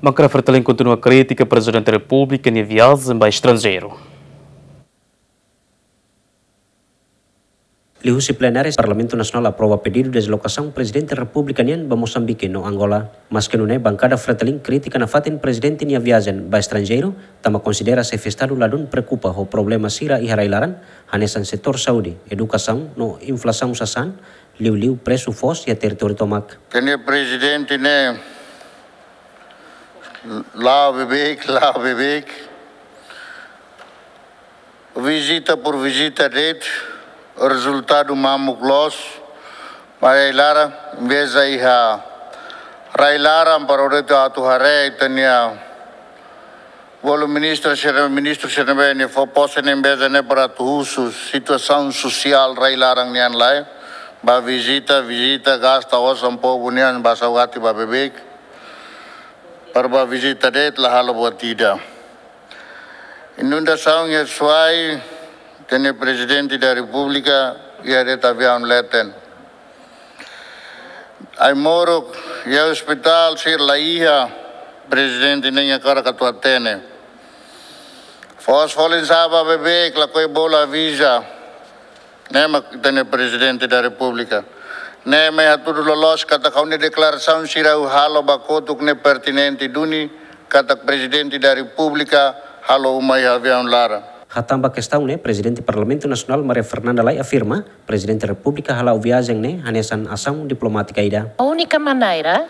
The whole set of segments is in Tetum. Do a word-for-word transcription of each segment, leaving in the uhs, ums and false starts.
Bankada FRETILIN kontinua kritika Prezidente Repúblika nia viajen ba estranjeiru. Liuhusi plenária, Parlamentu Nasionál aprova pedidu dezlokasaun Prezidente Repúblika nian ba Mosambike no Angola. Maske nune'e, bankada FRETILIN kritika nafatin Prezidente nia viajen ba estranjeiru, tanba konsidera xefe Estadu ladún preokupa ho problema sira iha rai-laran, hanesan setór saúde, edukasaun no inflasaun sasán, liuliu presu foos iha territóriu tomak. Ita-nia Prezidente ne'e la'o beibeik, la'o beibeik. Vizita por vizita de'it, rezultadu mamuk loos. Ba rai-laran, embeza iha rai-laran para o de'it atu haree ita-nia bolu ministru sira, ministru sira ne'ebé nia fó pose ne'e embeza ne'e para atu husu situasaun sosiál rai-laran nian lae. Ba vizita, vizita, gasta osan povu nian, ba saugati ba beibeik. Para ba vizita de'it la halo buat ida. Inundasaun iha Suai, ita-nia Prezidente da Repúblika iha de'it aviaun leten. Ai-moruk iha ospitál sira la iha, Prezidente ne'e iha karak atu hatene. Foos folin sa'e ba beibeik, lakohi bolu aviza. Ne'e mak ita-nia Prezidente da Repúblika. Ne'e mak hatudu loloos katak ha'u-nia deklarasaun sira ha'u halo ba kotuk ne'e pertinente duni, katak Prezidente da Repúblika halo uma iha aviaun laran. Hatán ba kestaun ne'e, Prezidente Parlamentu Nasionál Maria Fernanda Lay afirma, Prezidente Repúblika hala'o viajen ne'e hanesan asaun diplomátika ida. A única maneira,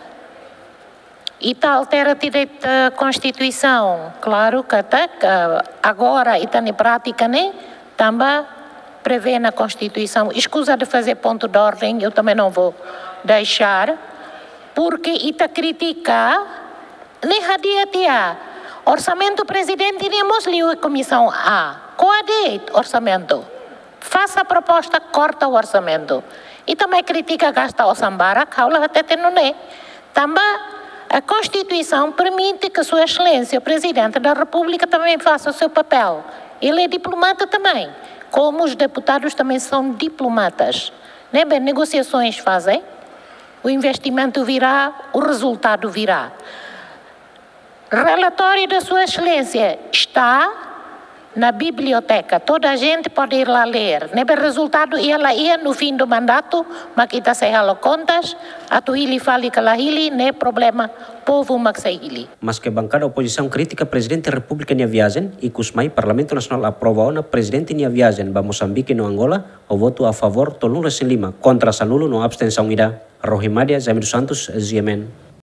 ita altera direitu, eh, Konstituisaun, klaru katak, eh, agora ita-nia prátika ne'e tanba prevee na Konstituisaun. Escusa de fazer ponto de ordem, eu também não vou deixar, porque ita kritika ne'e hadi'a tiha. Orsamentu Prezidente ne'e mós liu Komisaun A. Ko'a de'it orsamentu. Faça a proposta, corta o orçamento. Ita mai kritika gasta osan barak, ha'u la hatete nune'e. Tanba a Konstituisaun permite que Sua Excelência, Presidente da República, também faça o seu papel. Ele é diplomata também, como os deputados também são diplomatas. Ne'ebé negociações fazem, o investimento virá, o resultado virá. Relatório da Sua Excelência está na biblioteca. Toda a gente pode ir lá ler. Ne'ebé rezultadu iha la iha, no fim do mandato mak ita sei halo kontas, atu hili fali ka la hili, ne'e problema povu mak sei hili. Maske bankada opozisaun kritika Prezidente Repúblika nia viajen, ikus mai Parlamentu Nasionál aprova ona Prezidente nia viajen ba Mosambike no Angola, ho votu a favór tolunulu-resin-lima, kontra sanulu no abstensaun ida. Rohimadia Jaime dos Santos, G M N.